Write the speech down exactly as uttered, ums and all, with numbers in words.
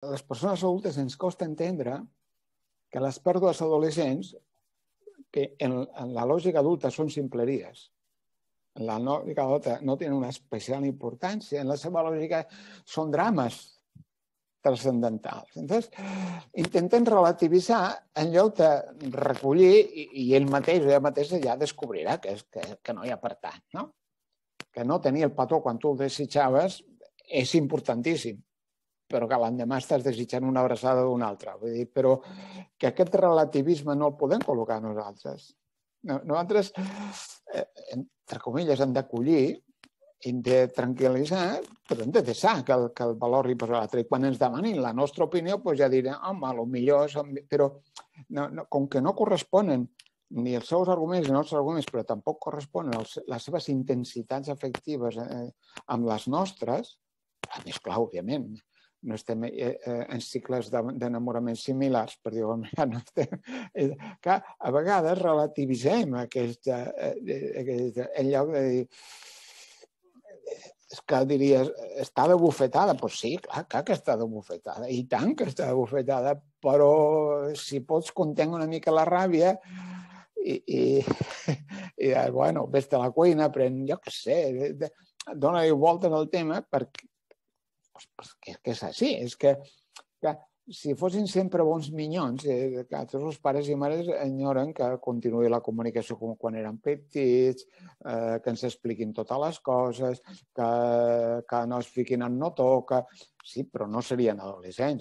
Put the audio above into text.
a les persones adultes ens costa entendre que les pèrdues adolescents, que en, en la lògica adulta són simpleries, en la lògica adulta no tenen una especial importància, en la seva lògica són drames trascendentals. Entonces, intenten relativitzar en lloc de recollir i, i ell mateix o ella mateixa ja descobrirà que, és, que, que no hi ha per tant, no? Que no tenir el petó quan tu el desitjaves és importantíssim, però que l'endemà estàs desitjant una abraçada d'una altra. Vull dir, però que aquest relativisme no el podem col·locar nosaltres. Nosaltres, entre comilles, hem d'acollir, hem de tranquil·litzar, però hem de deixar que el, que el valor li posa l'altre. I quan ens demanin la nostra opinió, doncs ja direm, home, potser som... Però no, no, com que no corresponen ni els seus arguments ni els nostres arguments, però tampoc corresponen els, les seves intensitats afectives eh, amb les nostres, a més, clar, òbviament, no estem eh, en cicles d'enamorament similars, per dir-ho no estem... Que a vegades relativitzem aquesta, aquesta, en lloc de dir és que diries, està de bufetada. Doncs sí, clar, clar que està de bufetada, i tant que està de bufetada, però si pots contenir una mica la ràbia i, i, i bueno, vés a la cuina, pren, jo què sé, dona-li voltes al tema perquè, perquè és que és així, és que, que si fossin sempre bons minyons, eh, que tots els pares i mares enyoren que continuï la comunicació com quan eren petits, eh, que ens expliquin totes les coses, que, que no es fiquin en no toca. Sí, però no serien adolescents.